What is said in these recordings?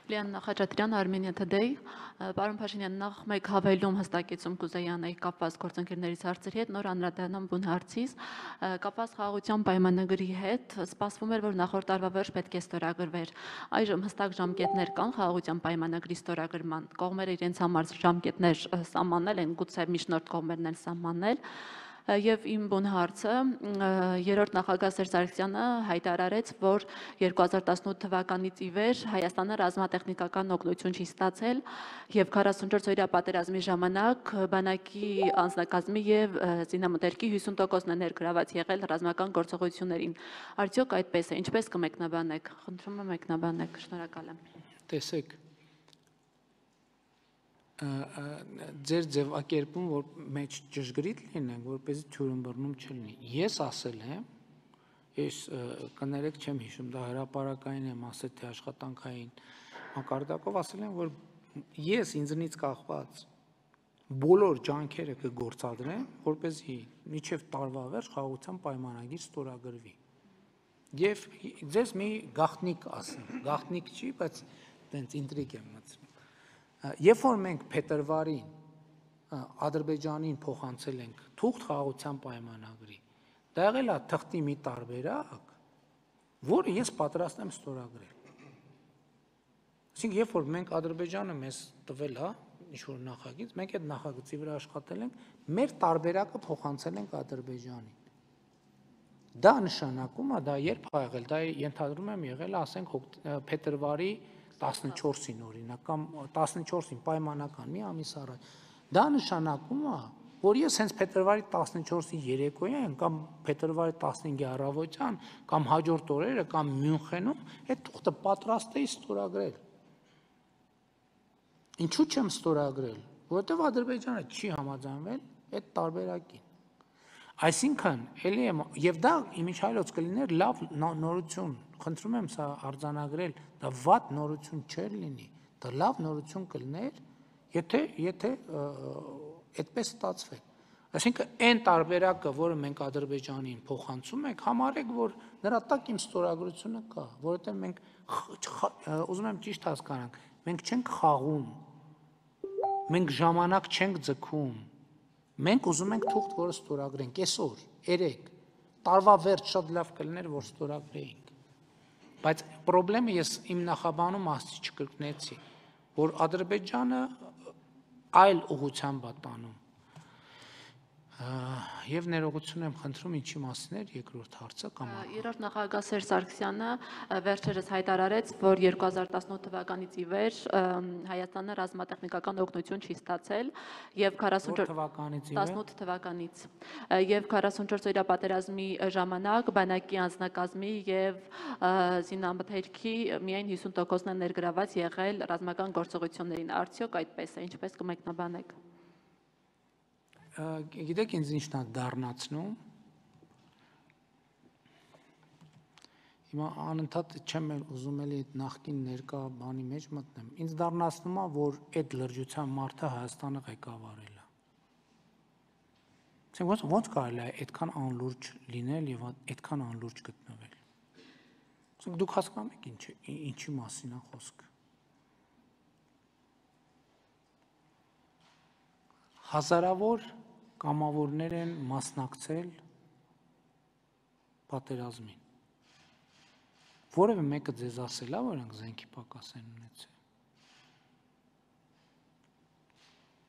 Լիաննա Խաչատրյան, Armenia Today, պարոն Փաշինյան, նախ մեկ հավելում հստակեցում կուզեի անել կապված գործընկերներից հարցերի հետ, նոր անդրադառնամ բուն հարցից, կապված խաղաղության պայմանագրի հետ, սպասվում էր, որ նախորդ տարվա վերջ պետք է ստորագրվեր։ Այժմ հստակ ժամկետներ կան խաղաղության պայմանագրի ստորագրման, կողմերը իրենց համար ժամկետներ սահմանել են, գուցե միջնորդ կողմերն են սահմանել։ Եվ իմ բուն հարցը, երրորդ նախագահ Սերժ Սարգսյանը հայտարարեց, որ 2018 թվականից ի վեր Հայաստանը ռազմատեխնիկական օգնություն չի ստացել եւ 44 օրյա պատերազմի ժամանակ բանակի անձնակազմի եւ զինամթերքի 50%-ն է ներգրաված եղել ռազմական գործողություններին։ Արդյոք այդպես է, ինչպես կմեկնաբանեք։ Խնդրում եմ մեկնաբանեք, շնորհակալ եմ։ Տեսեք, ձեր ձևակերպում, որ մեջ ճշգրիտ լինենք, որպեսզի թյուրըմբռնում չլինի։ Ես ասել եմ, ես կներեք չեմ հիշում, դա հրապարակային եմ ասել, թե աշխատանքային մակարդակով ասել եմ, որ ես ինձնից կախված բոլոր ջանքերը կգործադրեմ, որպեսզի մինչև տարվա վերջ խաղաղության պայմանագիր ստորագրվի։ Եվ ձեզ մի գաղտնիք ասեմ, գաղտնիք չի, բայց տենց ինտրիգ եմ մտցնում։ Երբ որ մենք փետրվարին Ադրբեջանին փոխանցել ենք թուղթ խաղաղության պայմանագրի, դա եղել է թղթի մի տարբերակ, որը ես պատրաստ եմ ստորագրել։ Այսինքն, երբ որ մենք Ադրբեջանը մեզ տվել է ինչ-որ նախագիծ, մենք այդ նախագծի վրա աշխատել ենք, մեր տարբերակը փոխանցել ենք Ադրբեջանին։ Դա նշանակում է, դա երբ է եղել, դա ենթադրում եմ եղել, ասենք փետրվարի 14-ին օրինակ, կամ 14-ին պայմանական մի ամիս առաջ։ Դա նշանակում է, որ ես հենց փետրվարի 14-ի երեկոյան կամ փետրվարի 15-ի առավոտյան կամ հաջորդ օրերը կամ Մյունխենում այդ թուղթը պատրաստ էի ստորագրել։ Ինչու չեմ ստորագրել, որովհետև Ադրբեջանը չի համաձայնվել այդ տարբերակին։ Այսինքն, էլի եմ, եւ դա իմիջայլոց կլիներ լավ նորություն, խնդրում եմ սա արձանագրել, դա վատ նորություն չէր լինի, դա լավ նորություն կլիներ, եթե այդպես ստացվեր։ Այսինքն, այն տարբերակը, որը մենք Ադրբեջանին փոխանցում ենք, համարեք, որ նրա տակ իմ ստորագրությունը կա, որովհետև մենք ուզում եմ ճիշտ հասկանանք, մենք չենք խաղում, մենք ժամանակ չենք ձգում, մենք ուզում ենք թուղթ, որը ստորագրենք, այսօր, երեկ, տարվա վերջ շատ լավ կլիներ, որ ստորագրեինք, բայց պրոբլեմը ես իմ նախաբանում ասի չկրկնեցի, որ Ադրբեջանը այլ ուղղությամբ է տանում, եւ ներողություն եմ խնդրում, ինչի մասին էր երկրորդ հարցը կամ Երրորդ նախագահ Սերժ Սարգսյանը վերջերս հայտարարեց, որ 2018 թվականից ի վեր Հայաստանը ռազմատեխնիկական օգնություն չի ստացել եւ 18 թվականից եւ 44 օրյա պատերազմի ժամանակ բանակի անձնակազմի եւ զինամթերքի միայն 50%-ն է ներգրաված եղել ռազմական գործողություններին։ Արդյոք այդպես է, ինչպես կմեկնաբանեք։ Գիտեք ինձ ինչն է դառնացնում, հիմա անընդհատ չեմ ուզում էլի այդ նախկին ներկա բանի մեջ մտնեմ, ինձ դառնացնում է, որ այդ լրջության մարդը Հայաստանը ղեկավարել է։ Ոնց կարելի է այդքան անլուրջ լինել եւ այդքան անլուրջ գտնվել։ Դուք հասկանում եք ինչի մասին է խոսքը։ Հազարավոր կամավորներ են մասնակցել պատերազմին։ Որևէ մեկը ձեզ ասել է, որ նրանք զենքի պակաս են ունեցել։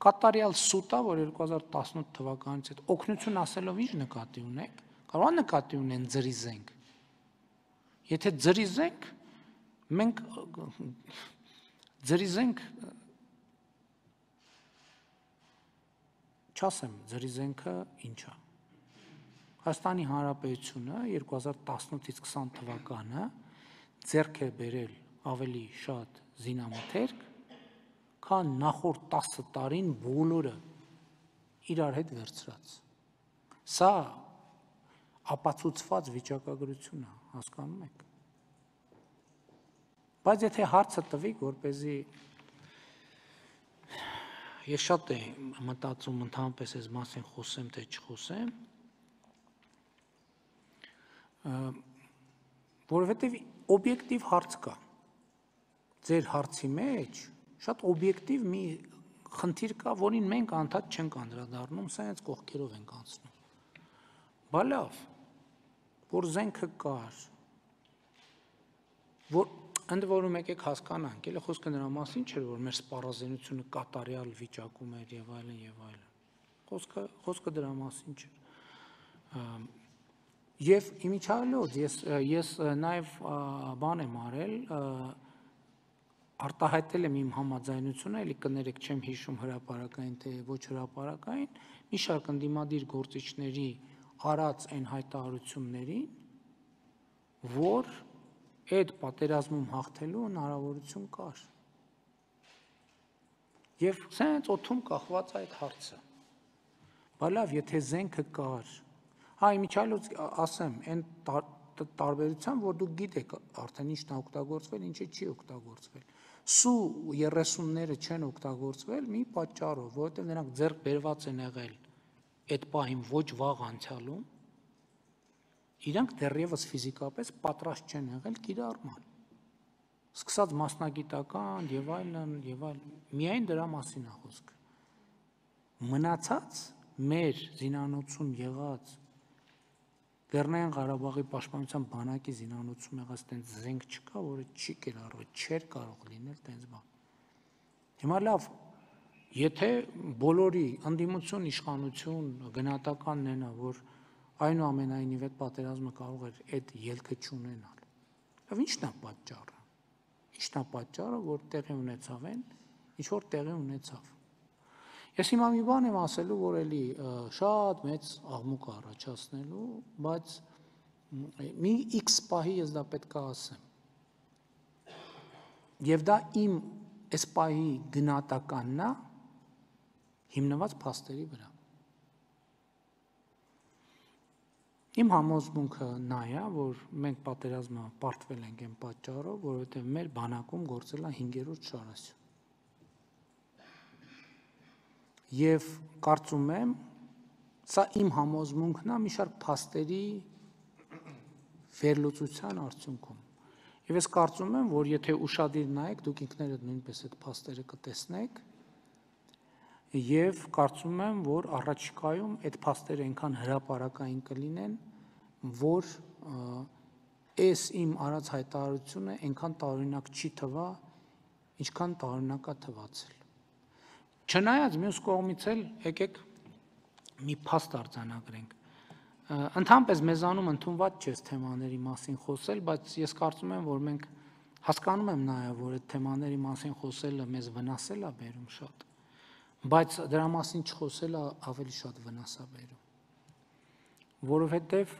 Կատարյալ սուտ է, որ 2018 թվականից այդ օգնություն ասելով ինչ նկատի ունեք, կարող է նկատի ունեն ձրի զենք։ Եթե ձրի զենք, մենք ձրի զենք չասեմ, ձրի զենքը ինչ է։ Հայաստանի Հանրապետությունը 2018-ից 20 թվականը ձեռք է բերել ավելի շատ զինամթերք, քան նախորդ 10 տարին բոլորը իրար հետ վերցրած։ Սա ապացուցված վիճակագրություն է, հասկանում եք։ Բայց եթե հարցը տվիք, որպեսզի ես շատ եմ մտածում ընդհանրապես այս մասին խոսեմ, թե չխոսեմ, որովհետև օբյեկտիվ հարց կա։ ձեր հարցի մեջ շատ օբյեկտիվ մի խնդիր կա, որին մենք անդադ չենք անդրադառնում, սա հենց կողքերով ենք անցնում։ Բա լավ, որ զենքը կար, որ ընդ որում եկեք հասկանանք, էլի խոսքը նրա մասին չէր, որ մեր սպառազինությունը կատարյալ վիճակում էր եւ այլն եւ այլն։ Խոսքը դրա մասին չէր։ Եվ իմիջիալոց ես նաեւ բան եմ արել, արտահայտել եմ իմ համաձայնությունը, էլի կներեք չեմ հիշում հրապարակային թե ոչ հրապարակային, մի շարք ընդդիմադիր գործիչների արած այն հայտարարություններին, որ այդ պատերազմում հաղթելու հնարավորություն կար։ Եվ սենց օդում կախված այդ հարցը։ Բա լավ, եթե զենքը կար, իմիջիալոց ասեմ, այն տարբերությամբ, որ դուք գիտեք արդեն ինչն է օգտագործվել, ինչը չի օգտագործվել։ Սու 30-ները չեն օգտագործվել մի պատճառով, որովհետև նրանք ձեռք բերված են եղել այդ պահին ոչ վաղ անցյալում, իրանք դեռևս ֆիզիկապես պատրաստ չեն եղել կիրառման։ Սկսած մասնագիտական եւ այլն, միայն դրա մասին է խոսքը։ Մնացած մեր զինանոցում եղած Լեռնային Ղարաբաղի պաշտպանության բանակի զինանոցում եղած տենց զենք չկա, որը չի կիրառվել, չէր կարող լինել տենց բան։ Հիմա լավ, եթե բոլորի ընդդիմություն, իշխանություն, գնահատականն են, որ այնուամենայնիվ այդ պատերազմը կարող էր այդ ելքը չունենալ։ Եվ ի՞նչն է պատճառը։ Ի՞նչն է պատճառը, որ տեղի ունեցավ այն, ինչ որ տեղի ունեցավ։ Ես հիմա մի բան եմ ասելու, որ էլի շատ մեծ աղմուկ առաջացնելու, բայց մի X պահի ես դա պետք է ասեմ։ Եվ դա իմ այս պահի գնահատականն է հիմնված փաստերի վրա։ Իմ համոզմունքը նա է, որ մենք պատերազմը պարտվել ենք այն պատճառով, որովհետև մեր բանակում գործել է 5-րդ շարասյուն։ Եվ կարծում եմ, սա իմ համոզմունքն է մի շարք փաստերի վերլուծության արդյունքում։ Եվ ես կարծում եմ, որ եթե ուշադիր նայեք, դուք ինքներդ նույնպես այդ փաստերը կտեսնեք, եւ կարծում եմ, որ առաջիկայում այդ փաստերը այնքան հրապարակային կլինեն, որ այս իմ արած հայտարարությունը այնքան տարօրինակ չի թվա, ինչքան տարօրինակ է թվացել։ Չնայած մյուս կողմից էլ եկեք մի փաստ արձանագրենք։ Ընդհանրապես մեզանում ընդունված չէ թեմաների մասին խոսել, բայց ես կարծում եմ, որ մենք հասկանում եմ նաև, որ այդ թեմաների մասին խոսելը մեզ վնասել է բերում շատ, բայց դրա մասին չխոսելը ավելի շատ վնաս է բերում։ Որովհետև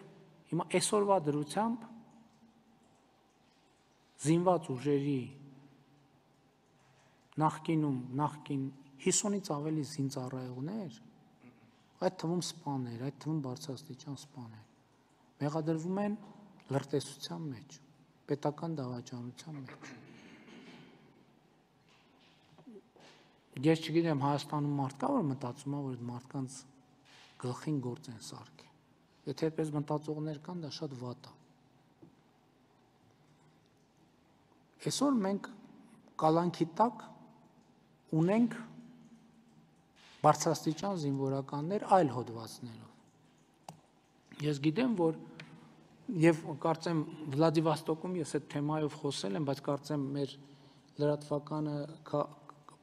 հիմա այսօրվա դրությամբ զինված ուժերի նախկին 50-ից ավելի զինծառայողներ, այդ թվում սպաներ, այդ թվում բարձրաստիճան սպաներ, մեղադրվում են լրտեսության մեջ, պետական դավաճանության մեջ։ Ես չգիտեմ, Հայաստանում մարդ կա, որ մտածում է, որ այդ մարդկանց գլխին գործ են սարքի։ Եթե այդպես մտածողներ կան, դա շատ վատ է։ Այսօր մենք կալանքի տակ ունենք բարձրաստիճան զինվորականներ այլ հոդվածներով։ Ես գիտեմ, որ եւ կարծեմ Վլադիվոստոկում ես այդ թեմայով խոսել եմ, բայց կարծեմ մեր լրատվականը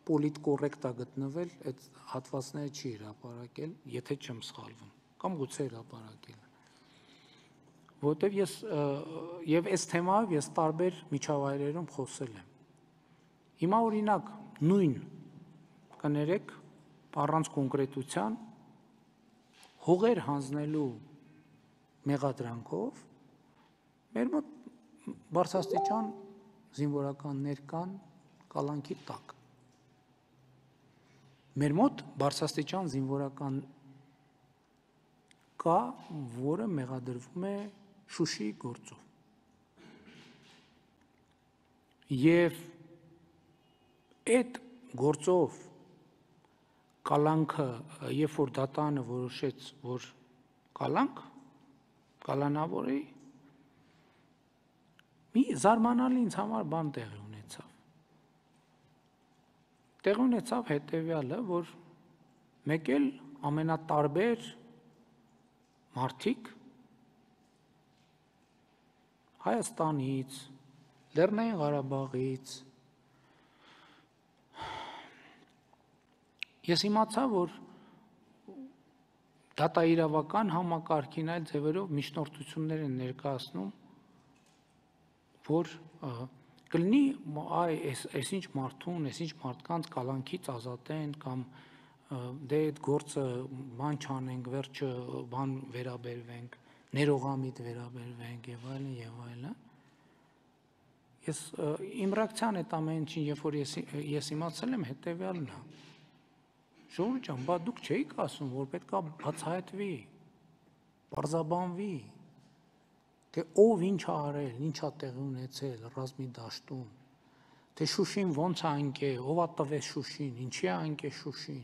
պոլիտկոռեկտ է գտնվել, այդ հատվածները չի հրապարակել, եթե չեմ սխալվում, կամ գուցե հրապարակել։ Որտեւ ես եւ այս թեմայով ես տարբեր միջավայրերում խոսել եմ։ Հիմա օրինակ նույն կներեք առանց կոնկրետության հողեր հանձնելու մեղադրանքով մեր մոտ բարձրաստիճան զինվորականներ կան կալանքի տակ։ Մեր մոտ բարձրաստիճան զինվորական կա, որը մեղադրվում է Շուշիի գործով։ Եվ այդ գործով կալանքը, երբ որ դատարանը որոշեց, որ կալանավորի, մի զարմանալի ինձ համար բան տեղի ունեցավ։ Տեղ ունեցավ հետևյալը, որ մեկ էլ ամենատարբեր մարդիկ Հայաստանից, Լեռնային Ղարաբաղից, ես իմացա, որ դատաիրավական համակարգին այլ ձևերով միջնորդություններ են ներկայացնում, որ կլինի այսինչ մարդուն, այսինչ մարդկանց կալանքից ազատեն կամ դե այդ գործը բան չանենք, վերջը բան վերաբերվենք, ներողամիտ վերաբերվենք եւ այլն եւ այլն։ Ես իմ ռեակցիան այդ ամեն ինչին, երբ որ ես իմացել եմ, հետեւյալն է։ Ժողովուրդ ջան, բա դուք չէիք ասում, որ պետքա բացահայտվի, պարզաբանվի, թե ով ինչ ա արել, ինչ ա տեղի ունեցել ռազմի դաշտում, թե Շուշին ոնց ա ընկել, ով ա տվեց Շուշին, ինչի ա ընկել Շուշին։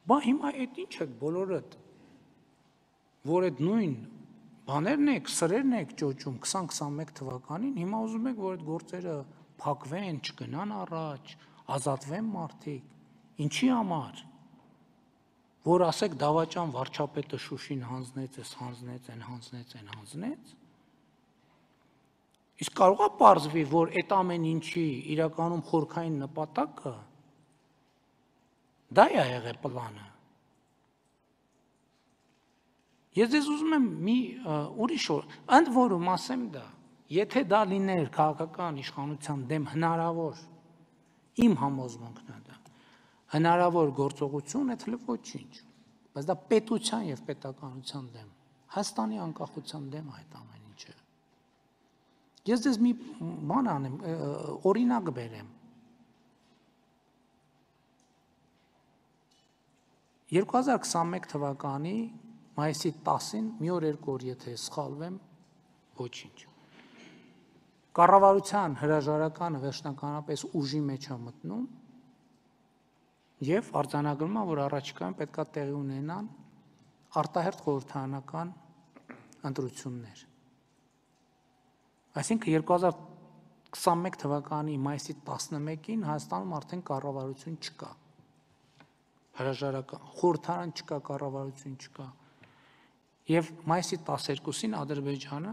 Բա հիմա այդ ինչ եք բոլորդ, որ այդ նույն բաներն եք, սրերն եք ճոճում 2021 թվականին, հիմա ուզում եք, որ այդ գործերը փակվեն, չգնան առաջ, ազատվեն մարդիկ, ինչի համար, որ ասեք դավաճան վարչապետը Շուշին հանձնեց, հանձնեց, իսկ կարող է պարզվի, որ այդ ամեն ինչի իրականում խորքային նպատակը դա է եղել պլանը։ Ես ձեզ ուզում եմ մի ուրիշ ընդ որում ասեմ դա, եթե դա լիներ քաղաքական իշխանության դեմ հնարավոր, իմ համոզմունքն է դա, հնարավոր գործողություն, այդ հենց ոչինչ, բայց դա պետության եւ պետականության դեմ, Հայաստանի անկախության դեմ այդ ամեն ինչը։ Ես ձեզ մի բան անեմ, օրինակ բերեմ։ 2021 թվականի մայիսի 10-ին մի օր երկու օր եթե սխալվեմ, ոչինչ։ Կառավարության հրաժարականը վերջնականապես ուժի մեջ է մտնում եւ արձանագրում է, որ առաջիկայում պետքա տեղի ունենան արտահերթ խորհրդարանական ընտրություններ։ Այսինքն 2021 թվականի մայիսի 11-ին Հայաստանում արդեն կառավարություն չկա։ Հրաժարական խորհրդարան չկա, կառավարություն չկա։ Եվ մայիսի 12-ին Ադրբեջանը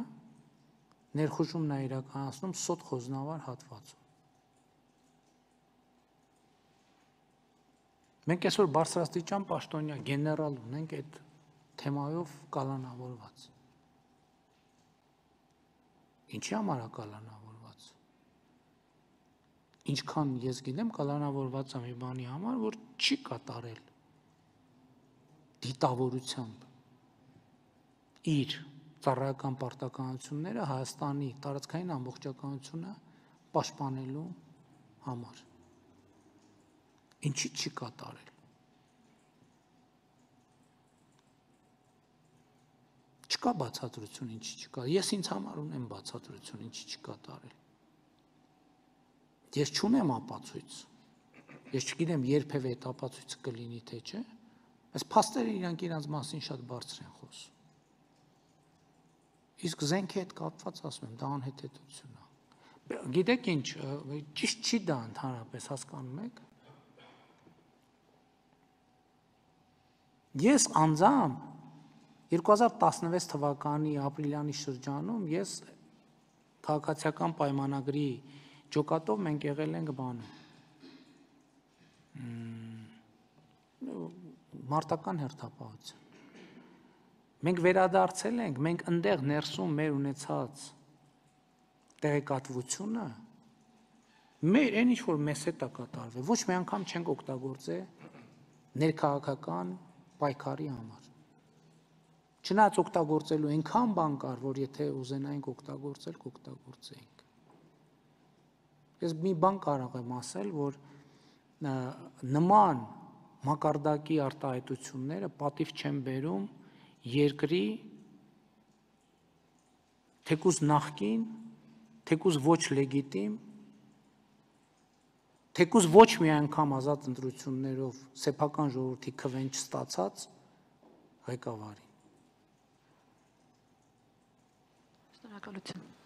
ներխուժումն է իրականացնում Սոտ Խոզնավար հատվածում։ Մենք այսօր բարձրաստիճան պաշտոնյա գեներալ ունենք այդ թեմայով կալանավորված։ Ինչի համար է կալանավորված։ Ինչքան ես գիտեմ, կալանավորված է մի բանի համար, որ չի կատարել դիտավորությամբ իր ծառայական պարտականությունները Հայաստանի տարածքային ամբողջականությունը պաշտպանելու համար։ Ինչի չի կատարել։ Չկա բացատրություն, ինչի չկա։ Ես ինձ համար ունեմ բացատրություն, ինչի չկատարել։ Ես չունեմ ապացույց։ Ես չգիտեմ երբևէ այդ ապացույցը կլինի թե չէ։ Այս փաստերը իրանք իրանց մասին շատ բարձր են խոսում։ Իսկ զենքի հետ կապված ասում եմ, դա անհետեթություն է։ Գիտեք ինչ, ճիշտ չի դա ընդհանրապես, հասկանում եք։ Ես անձամբ 2016 թվականի ապրիլյանի շրջանում ես քաղաքացիական պայմանագրի ջոկատով մենք եղել ենք բանում մարտական հերթապահություն։ Մենք վերադարձել ենք, մենք ընդեղ ներսում մեր ունեցած տեղեկատվությունը մեր այն ինչ որ մեզ հետ է կատարվել, ոչ մի անգամ չենք օգտագործել ներքաղաքական պայքարի համար։ Չնայած օգտագործելու այնքան բան կար, որ եթե ուզենայինք օգտագործել, կօգտագործեինք։ Ես մի բան կարող եմ ասել, որ նման մակարդակի արտահայտությունները պատիվ չեն բերում երկրի թեկուզ նախկին, թեկուզ ոչ լեգիտիմ, թեկուզ ոչ մի անգամ ազատ ընտրություններով սեփական ժողովրդի քվեն չստացած ղեկավարին։ Շնորհակալություն։